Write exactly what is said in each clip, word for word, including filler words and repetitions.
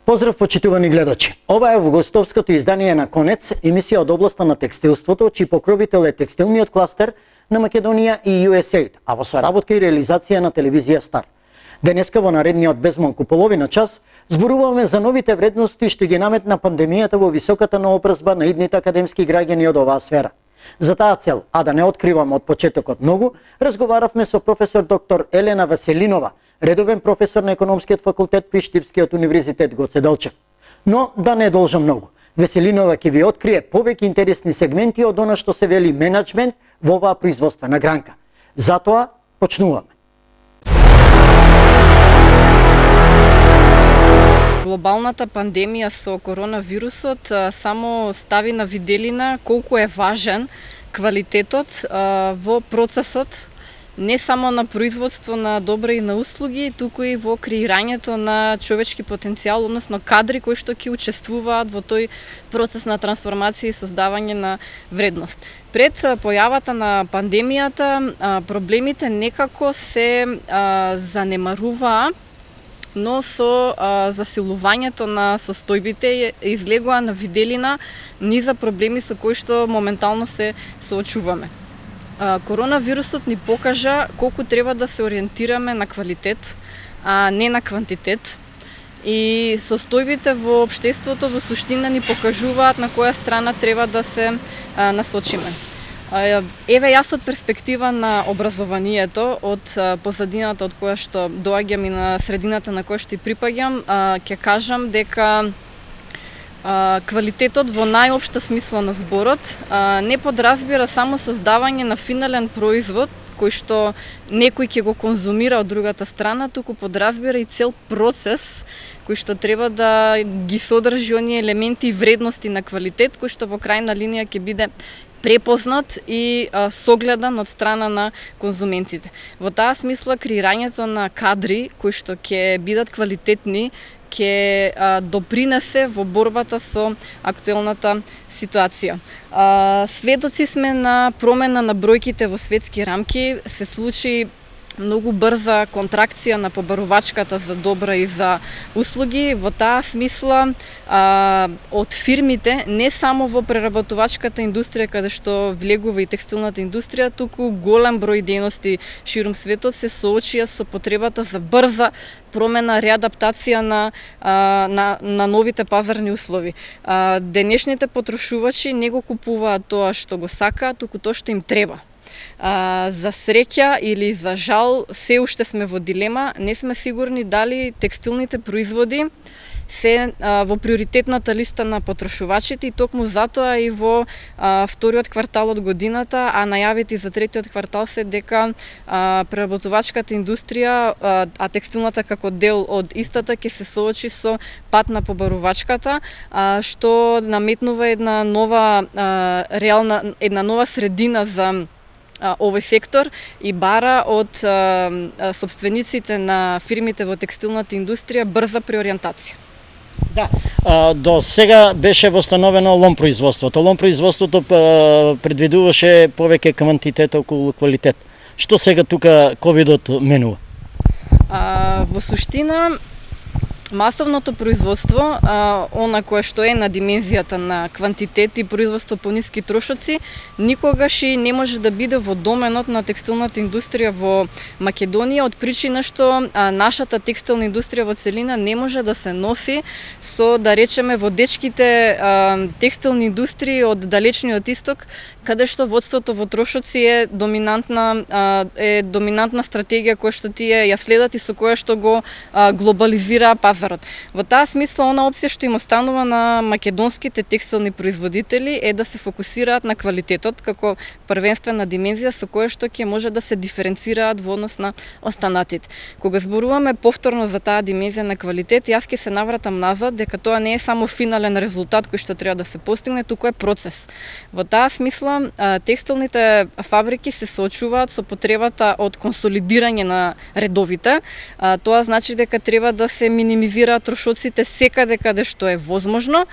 Поздрав, почитувани гледачи. Ова е августовското издание на Конец, емисија од областа на текстилството, чиј покровител е текстилниот кластер на Македонија и ю ес ей, а во соработка и реализација на телевизија Стар. Денеска во наредниот безмалку половина час зборуваме за новите вредности што ги наметна пандемијата во високата наобразба на идните академски граѓани од оваа сфера. За таа цел, а да не откривам од почетокот многу, разговаравме со професор доктор Елена Веселинова, редовен професор на економскиот факултет при Штипскиот универзитет Гоце Делчев. Но да не должам многу. Веселинова ќе ви открие повеќе интересни сегменти од она што се вели менеджмент во оваа производствена гранка. Затоа почнуваме. Глобалната пандемија со коронавирусот само стави на виделина колку е важен квалитетот во процесот не само на производство на добри и на услуги, туку и во креирањето на човечки потенцијал, односно кадри кои што ќе учествуваат во тој процес на трансформација и создавање на вредност. Пред појавата на пандемијата, проблемите некако се занемаруваа, но со а, засилувањето на состојбите излегува на виделина низа проблеми со кои што моментално се соочуваме. А, коронавирусот ни покажа колку треба да се ориентираме на квалитет, а не на квантитет. И состојбите во општеството во суштина ни покажуваат на која страна треба да се а, насочиме. Еве јас од перспектива на образованието, од позадината од која што доаѓам и на средината на која што и припаѓам, ќе кажам дека квалитетот во најопшта смисла на зборот не подразбира само создавање на финален производ кој што некој ќе го конзумира од другата страна, туку подразбира и цел процес кој што треба да ги содржи оние елементи и вредности на квалитет, кој што во крајна линија ќе биде препознат и а, согледан од страна на конзументите. Во таа смисла креирањето на кадри кои што ќе бидат квалитетни ќе а, допринесе во борбата со актуелната ситуација. А, сведоци сме на промена на бројките во светски рамки, се случи многу брза контракција на побарувачката за добра и за услуги. Во таа смисла а, од фирмите, не само во преработувачката индустрија каде што влегува и текстилната индустрија, туку голем број дејности ширум светот се соочија со потребата за брза промена, реадаптација на, а, на, на новите пазарни услови. А, денешните потрошувачи не го купуваат тоа што го сакаат, туку тоа што им треба. А, за среќа или за жал, се уште сме во дилема, не сме сигурни дали текстилните производи се а, во приоритетната листа на потрошувачите и токму затоа и во а, вториот квартал од годината, а најавите за третиот квартал се дека а, преработувачката индустрија, а, а текстилната како дел од истата ќе се соочи со пат на побарувачката, а, што наметнува една нова а, реална една нова средина за овој сектор и бара од а, собствениците на фирмите во текстилната индустрија брза преориентација. Да, а, до сега беше восстановено лом производството. Лом производството а, предвидуваше повеќе квантитет околу квалитет. Што сега тука ковидот менува? А, во суштина, масовното производство, а, она кое што е на димензијата на квантитет и производство по ниски трошоци, никогаш и не може да биде во доменот на текстилната индустрија во Македонија, од причина што а, нашата текстилна индустрија во целина не може да се носи со, да речеме, водечките а, текстилни индустрии од далечниот исток, каде што водството во трошоци е доминантна а, е доминантна стратегија која што тие ја следат и со која што го а, глобализира пазарот. Во таа смисла, она опција што им останува на македонските текстилни производители е да се фокусираат на квалитетот како првенствена димензија со која што ќе може да се диференцираат во однос на останатите. Кога зборуваме повторно за таа димензија на квалитет, јас ќе се навратам назад дека тоа не е само финален резултат кој што треба да се постигне, туку е процес. Во таа смисла, текстилните фабрики се соочуваат со потребата од консолидирање на редовите. Тоа значи дека треба да се минимизираат трошоците секаде каде што е возможно,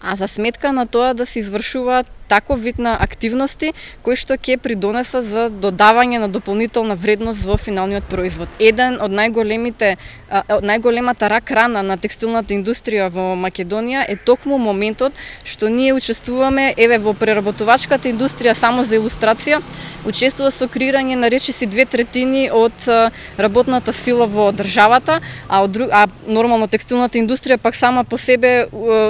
а за сметка на тоа да се извршуваат таков вид на активности кои што ќе придонесат за додавање на дополнителна вредност во финалниот производ. Еден од најголемите од најголемата рак рана на текстилната индустрија во Македонија е токму моментот што ние учествуваме еве во преработувачката индустрија, само за илустрација, учествува со креирање на речиси две третини од работната сила во државата, а од друг, а нормално текстилната индустрија пак сама по себе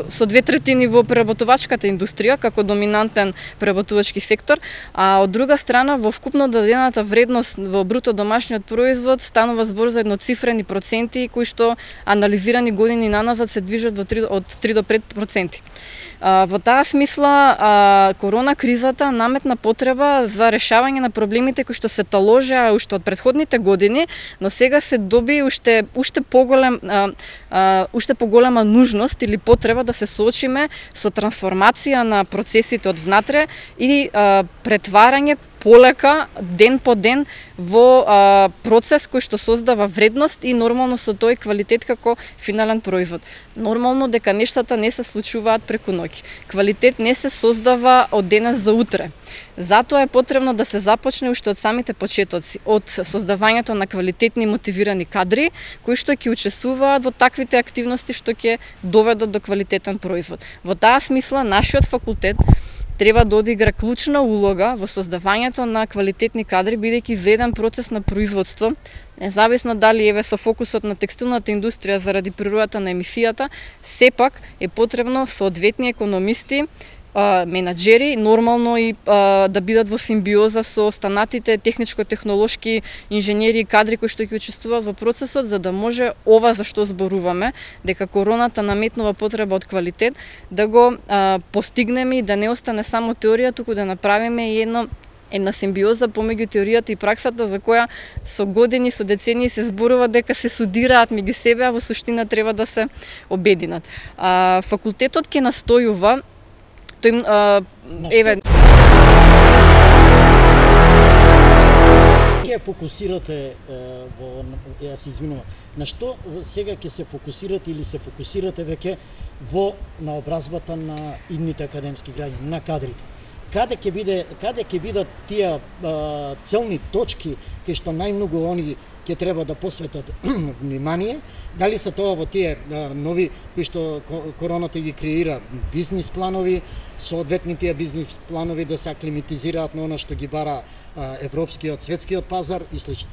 со две третини во преработувачката индустрија како доминантен преработувачки сектор, а од друга страна во вкупно дадената вредност во бруто домашниот производ станува збор за едноцифрени проценти кои што анализирани години наназад се движат во три, од три до пет проценти. Во таа смисла, корона кризата наметна потреба за решавање на проблемите кои што се таложеа уште од претходните години, но сега се доби уште уште поголем уште поголема нужност или потреба да се соочиме со трансформација на процесите од внатре и претварање полека, ден по ден, во а, процес кој што создава вредност и нормално со тој квалитет како финален производ. Нормално дека нештата не се случуваат преку ноќ. Квалитет не се создава од денес за утре. Затоа е потребно да се започне уште од самите почетоци, од создавањето на квалитетни мотивирани кадри, кои што ќе учествуваат во таквите активности што ќе доведат до квалитетен производ. Во таа смисла, нашиот факултет треба да одигра клучна улога во создавањето на квалитетни кадри, бидејќи за еден процес на производство, независно дали еве со фокусот на текстилната индустрија заради природата на емисијата, сепак е потребно соодветни економисти, менаџери, нормално и а, да бидат во симбиоза со останатите техничко-технолошки инженери и кадри кои што ќе учествуваат во процесот, за да може ова за што зборуваме, дека короната наметнува потреба од квалитет, да го а, постигнеме и да не остане само теорија, туку да направиме и едно една симбиоза помеѓу теоријата и праксата, за која со години, со децении се зборува дека се судираат меѓу себе, а во суштина треба да се обединат. А, факултетот ќе настојува тој а, еве ќе фокусирате во, ја се извинувам, на што сега ќе се фокусирате или се фокусирате веќе во наобразбата на идните академски граѓани, на кадрите? Каде ќе биде, каде ќе бидат тие а, целни точки кај што најмногу они ќе треба да посветат внимание? Дали се тоа во тие а, нови кои што короната ги креира бизнис планови, соодветни тие бизнис планови да се аклиматизираат на она што ги бара а, европскиот, светскиот пазар и слично?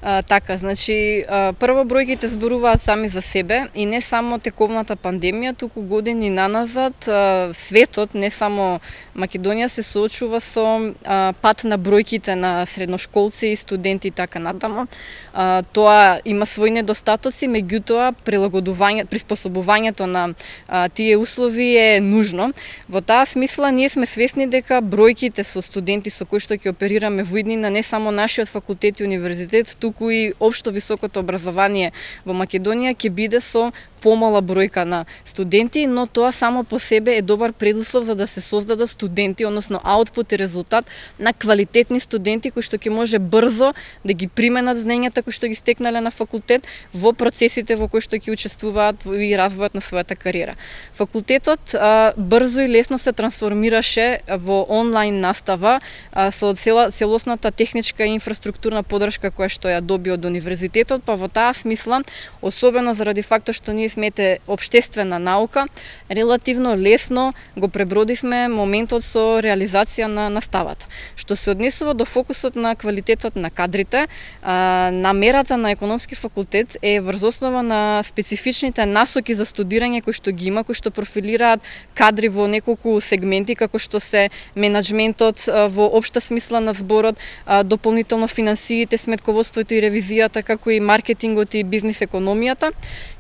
А, така, значи, а, прво бројките зборуваат сами за себе и не само тековната пандемија, туку години наназад а, светот, не само Македонија, се соочува со а, пат на бројките на средношколци и студенти и така натаму. А, тоа има своји недостатоци, меѓутоа прилагодување, приспособувањето на а, тие услови е нужно. Во таа смисла ние сме свесни дека бројките со студенти со кои што ќе оперираме во иднина, не само нашиот факултет и универзитет, туку и општо високото образование во Македонија ќе биде со помала бројка на студенти, но тоа само по себе е добар предуслов за да се создадат студенти, односно аутпут и резултат на квалитетни студенти кои што ќе може брзо да ги применат знаењата кои што ги стекнале на факултет во процесите во кои што ќе учествуваат и развојот на својата кариера. Факултетот а, брзо и лесно се трансформираше во онлайн настава а, со цела, целосната техничка и инфраструктурна подршка која што ја доби од универзитетот, па во таа смисла, особено заради фактот што ние смете општествена наука, релативно лесно го пребродивме моментот со реализација на наставата. Што се однесува до фокусот на квалитетот на кадрите, а, намерата на економски факултет е врз основа на специфичните насоки за студирање кои што ги има, кои што профилираат кадри во неколку сегменти, како што се менаџментот во општа смисла на зборот, а, дополнително финансиите, сметководството и ревизијата, како и маркетингот и бизнис економијата,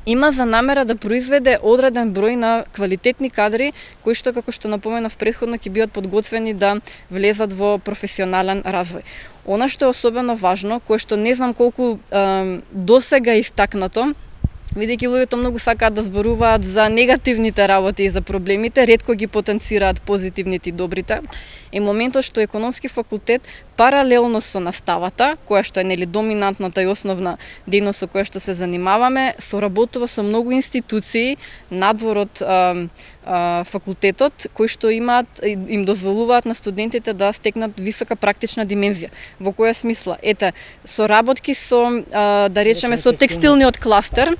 има за намера да произведе одреден број на квалитетни кадри кои што, како што напоменав претходно, ќе бидат подготвени да влезат во професионален развој. Она што е особено важно, кое што не знам колку е, досега истакнато, бидејќи луѓето многу сакаат да зборуваат за негативните работи и за проблемите, ретко ги потенцираат позитивните и добрите, е моментот што економски факултет паралелно со наставата, која што е нели доминантната и основна дејност со која што се занимаваме, соработува со многу институции надвор од а, а, факултетот, кои што имаат им дозволуваат на студентите да стекнат висока практична димензија. Во која смисла? Ете, соработки со а, да речеме со текстилниот кластер.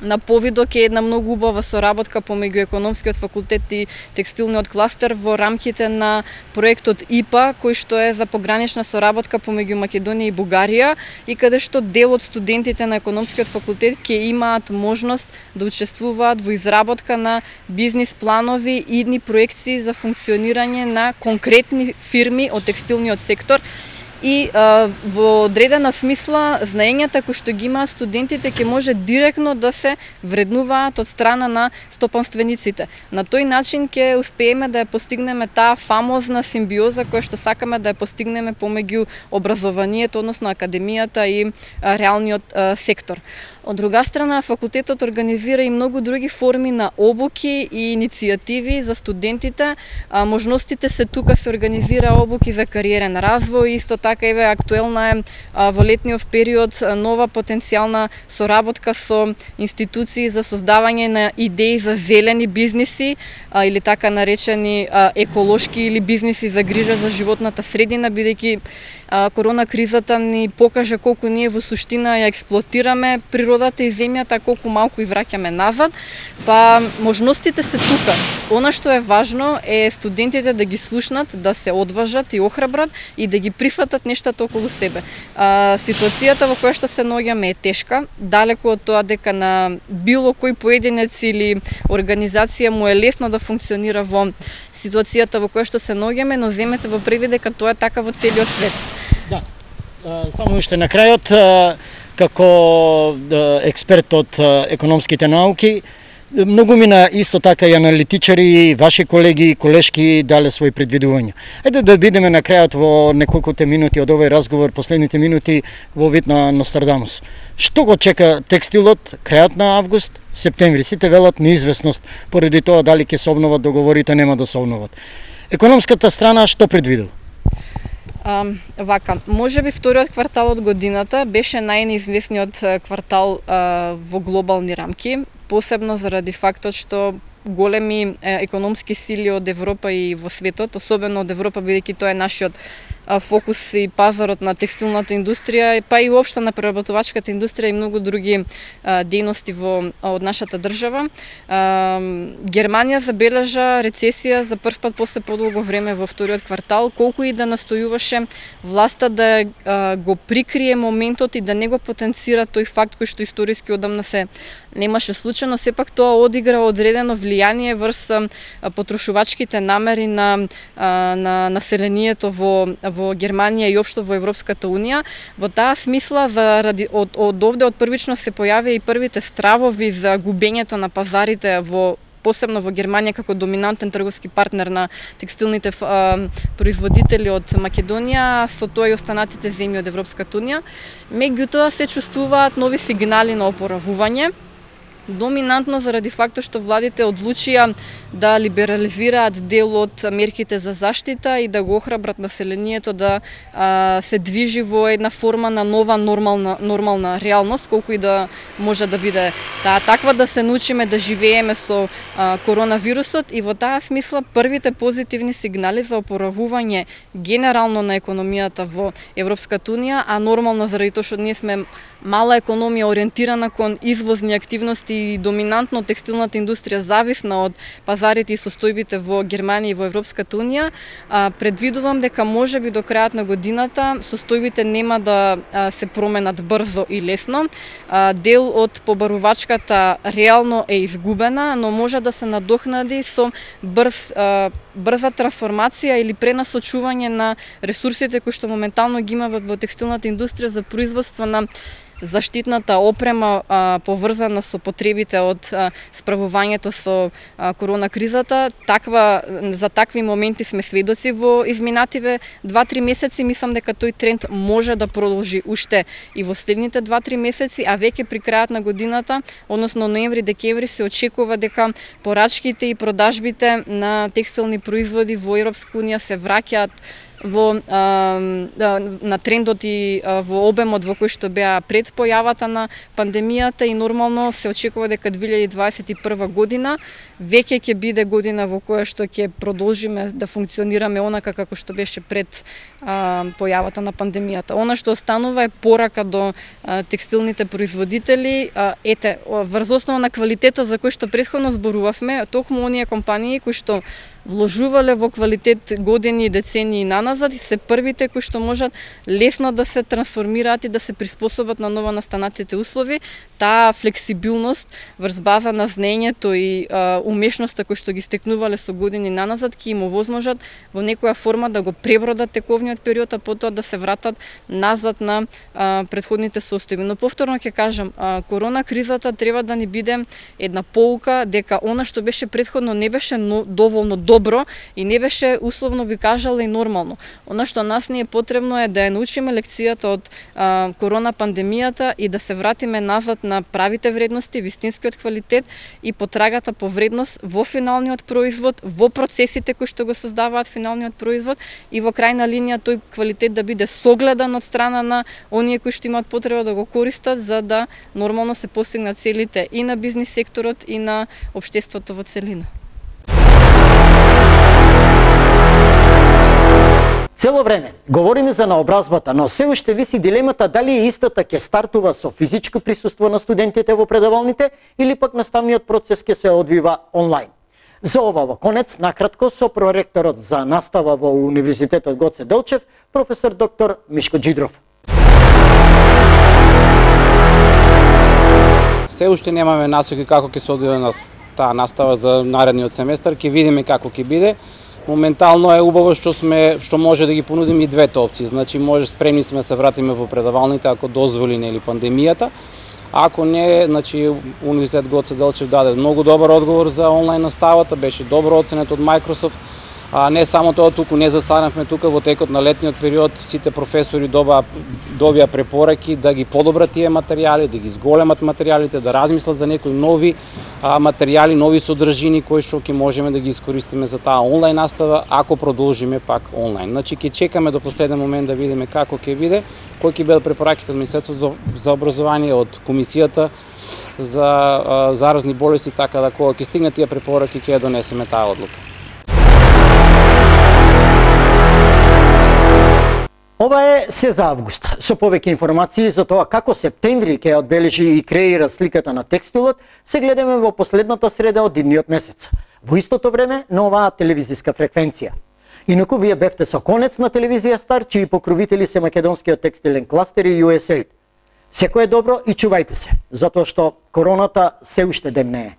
На повидок е една многу убава соработка помеѓу економскиот факултет и текстилниот кластер во рамките на проектот И П А, кој што е за погранична соработка помеѓу Македонија и Бугарија и каде што дел од студентите на економскиот факултет ќе имаат можност да учествуваат во изработка на бизнис планови и идни проекции за функционирање на конкретни фирми од текстилниот сектор. И а, во одредена смисла знаењата кои што ги имаат студентите ќе може директно да се вреднуваат од страна на стопанствениците. На тој начин ќе успееме да ја постигнеме таа фамозна симбиоза која што сакаме да ја постигнеме помеѓу образованието, односно академијата и а, реалниот а, сектор. Од друга страна, факултетот организира и многу други форми на обуки и иницијативи за студентите. А, можностите се тука се организира обуки за кариерен развој, исто така еве актуелна е а, во летниот период нова потенцијална соработка со институции за создавање на идеи за зелени бизниси а, или така наречени а, еколошки или бизниси за грижа за животната средина, бидејќи а, корона кризата ни покажа колку ние во суштина ја експлоатираме природата и земјата, колку малку и враќаме назад, па можностите се тука. Она што е важно е студентите да ги слушнат, да се одважат и охрабрат и да ги прифатат нештата околу себе. А, ситуацијата во која што се наоѓаме е тешка, далеку од тоа дека на било кој поединец или организација му е лесно да функционира во ситуацијата во која што се наоѓаме, но земете во предвид дека тоа е така во целиот свет. Да, само уште на крајот, како експерт од економските науки, многу мина исто така и аналитичари, ваши колеги, колешки дале своји предвидувања. Еде да бидеме на крајот во неколкуте минути од овој разговор, последните минути во вид на Нострадамус. Што го чека текстилот крајот на август, септември? Сите велат неизвестност поради тоа дали ќе се обноват договорите, нема да се обноват. Економската страна што предвидува? А, вака, може би вториот квартал од годината беше најнеизвестниот квартал а, во глобални рамки, посебно заради фактот што големи е, економски сили од Европа и во светот, особено од Европа, бидејќи тоа е нашиот а, фокус и пазарот на текстилната индустрија, па и уопшто на преработувачката индустрија и многу други а, дејности во од нашата држава. А, Германија забележа рецесија за прв пат после подолго време во вториот квартал, колку и да настојуваше власта да а, го прикрие моментот и да не го потенцира тој факт кој што историски одамна се немаше случајно, сепак тоа одигра одредено влијание врз потрошувачките намери на на населението во во Германија и општо во Европската унија. Во таа смисла заради од од овде од првично се појавија и првите стравови за губењето на пазарите во посебно во Германија како доминантен трговски партнер на текстилните а, производители од Македонија, со тоа и останатите земји од Европската унија. Меѓутоа се чувствуваат нови сигнали на опоравување, доминантно заради фактот што владите одлучија да либерализираат дел од мерките за заштита и да го охрабрат населението да а, се движи во една форма на нова нормална нормална реалност, колку и да може да биде таа таква, да се научиме да живееме со а, коронавирусот. И во таа смисла првите позитивни сигнали за опоравување генерално на економијата во Европската унија, а нормално заради тоа што ние сме мала економија ориентирана кон извозни активности и доминантно текстилната индустрија зависна од пазарите и состојбите во Германија и во Европската унија, а, предвидувам дека можеби до крајот на годината состојбите нема да а, се променат брзо и лесно. А, дел од побарувачката реално е изгубена, но може да се надокнади со брз а, брза трансформација или пренасочување на ресурсите кои што моментално ги има во текстилната индустрија за производство на заштитната опрема а, поврзана со потребите од а, справувањето со а, корона кризата. Таква за такви моменти сме сведоци во изминативе два-три месеци. Мислам дека тој тренд може да продолжи уште и во следните два-три месеци, а веќе при крајот на годината, односно ноември-декември, се очекува дека порачките и продажбите на текстилни производи во Европска унија се враќаат во а, на трендот и а, во обемот во кој што беа пред појавата на пандемијата, и нормално се очекува дека две илјади дваесет и прва година веќе ќе биде година во која што ќе продолжиме да функционираме онака како што беше пред а, појавата на пандемијата. Она што останува е порака до а, текстилните производители, а, ете, врз основа на квалитетот за кој што претходно зборувавме, токму оние компании кои што вложувале во квалитет години и децении наназад и се првите кои што можат лесно да се трансформираат и да се приспособат на ново настанатите услови. Таа флексибилност врз база на знаењето и а, умешноста кои што ги стекнувале со години наназад ќе им овозможат во некоја форма да го пребродат тековниот период, а потоа да се вратат назад на а, предходните состојби. Но повторно ќе кажам, а, корона кризата треба да ни биде една поука дека она што беше претходно не беше но, доволно добро и не беше, условно би кажала, и нормално. Она што нас ни е потребно е да ја научиме лекцијата од а, корона пандемијата и да се вратиме назад на правите вредности, вистинскиот квалитет и потрагата по вредност во финалниот производ, во процесите кои што го создаваат финалниот производ и во крајна линија тој квалитет да биде согледан од страна на оние кои што имаат потреба да го користат, за да нормално се постигнат целите и на бизнис секторот и на општеството во целина. Цело време говориме за наобразбата, но се уште виси дилемата дали истата ќе стартува со физичко присуство на студентите во предавалните или пак наставниот процес ќе се одвива онлайн. За ова во конец, накратко, со проректорот за настава во Универзитетот Гоце Делчев, професор доктор Мишко Джидров. Се уште немаме насоки како ќе се одвива на таа настава за наредниот семестар, ќе видиме како ќе биде. Моментално е убаво што сме што може да ги понудиме и двете опции. Значи може спремни сме да се вратиме во предавалните ако дозволи нели пандемијата. Ако не, значи Универзитет Гоце Делчев даде многу добар одговор за онлайн наставата, беше добро оценет од Microsoft. А не само тоа, туку не застанавме тука во текот на летниот период, сите професори доба добија препораки да ги подобрат тие материјали, да ги зголемат материјалите, да размислат за некои нови а, материјали, нови содржини кои што ќе можеме да ги искористиме за таа онлайн настава ако продолжиме пак онлайн. Значи ќе чекаме до последен момент да видиме како ќе биде, кои ќе бидат препораките од Министерството за образование, од комисијата за а, заразни болести, така да кога ќе стигнат тие препораки ќе ја донесеме таа одлука. Ова е се за август. Со повеќе информации за тоа како септември ќе одбележи и креира сликата на текстилот, се гледаме во последната среда од идниот месец. Во истото време на оваа телевизиска фреквенција. Инаку вие бевте со конец на телевизија Стар, чии покровители се македонскиот текстилен кластер и ю ес ей. Секој е добро и чувајте се, затоа што короната се уште демнее.